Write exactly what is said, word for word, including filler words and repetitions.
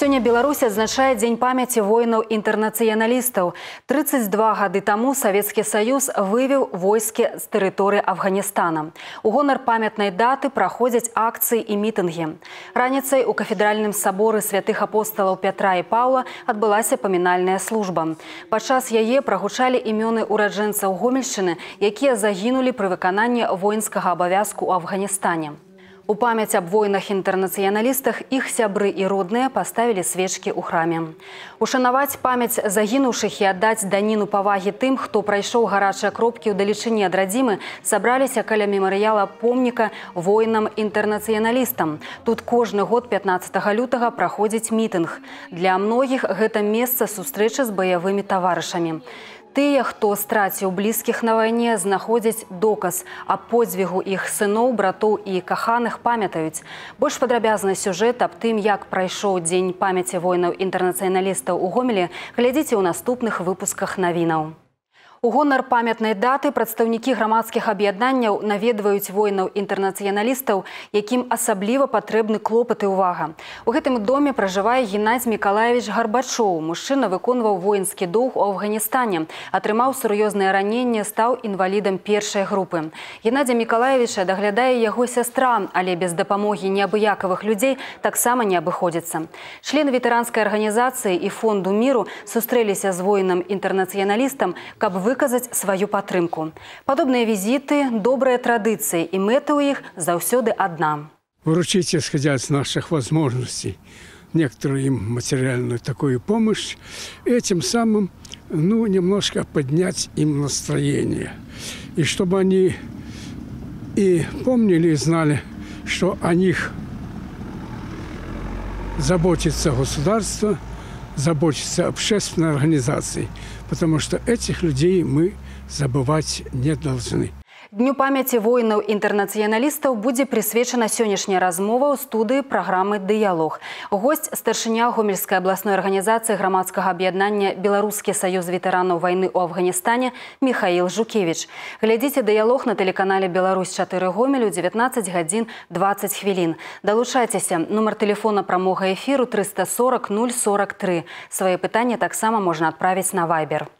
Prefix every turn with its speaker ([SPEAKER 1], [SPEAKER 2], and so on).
[SPEAKER 1] Сёння Беларусь адзначае дзень памяці воінаў-інтэрнацыяналістаў. трыццаць два гады таму Савецкі Саюз вывеў войскі з тэрыторыі Афганістана. У гонар памятнай даты праходзяць акцыі і мітынгі. Раніцай у кафедральным саборы святых апосталаў Пятра і Паўла адбылася памінальная служба. Падчас яе прагучалі імёны ураджэнцаў Гомельшчыны, якія загінулі пры выкананні воінскага абавязку ў Афганістане. У памяць аб воінах-інтэрнацыяналістах іх сябры і родныя паставілі свечкі ў храме. Ушанаваць памяць загінуўшых і аддаць даніну павагі тым, хто прайшоў гарачыя кропкі ў далечыні ад радзімы, сабраліся каля мемарыяла помніка воінам-інтэрнацыяналістам. Тут кожны год пятнаццатага лютага праходзіць мітынг. Для многіх гэта месца сустрэчы з баявымі таварышамі. Тыя, хто страціў блізкіх на вайне, знаходзяць доказ аб подзвігу іх сыноў, братоў і каханых памятаюць. Больш падрабязны сюжэт аб тым, як прайшоў дзень памяці воінаў-інтэрнацыяналістаў у Гомелі, глядзіце ў наступных выпусках навінаў. У гонар памятнай даты прадстаўнікі грамадскіх аб'яднанняў наведваюць воінаў-інтэрнацыяналістаў, якім асабліва патрэбны клопат і ўвага. У гэтым доме пражывае Геннадзь Мікалаевіч Гарбачоў. Мужчына выконваў воінскі доўг у Афганістане, атрымаў сур'ёзнае раненне, стаў інвалідам першай групы. Геннадзя Мікалаевіча даглядае яго сястра, але без дапамогі неабыякавых людзей таксама не абыходзіцца. Члены ветэранскай арганізацыі і фонду міру сустрэліся з воінам-інтэрнацыяналістам, каб вы выказаць сваю падтрымку. Падобныя візіты, добрыя традыцыі, и мэта у их заўсёды одна.
[SPEAKER 2] Выручить, исходя из наших возможностей, некоторую им материальную такую помощь, этим самым, ну, немножко поднять им настроение. И чтобы они и помнили, и знали, что о них заботится государство, заботится общественная организация, потому что этих людей мы забывать не должны.
[SPEAKER 1] Дню памяці воінаў-інтэрнацыяналістаў будзе прысвечана сённяшняя размова ў студыі праграмы «Дыялог». Госць – старшыня Гомельскай абласной арганізацыі грамадскага аб'яднання «Беларускі саюз ветэранаў вайны ў Афганістане» Михаил Жукевич. Глядзіце «Дыялог» на тэлеканале «Беларусь чатыры Гомелю» дзевятнаццаць гадзін дваццаць хвілін. Далучайцеся. Нумар тэлефона прамога эфіру трыста сорок нуль сорок тры. Свае пытанні таксама можна адправіць на Вайбер.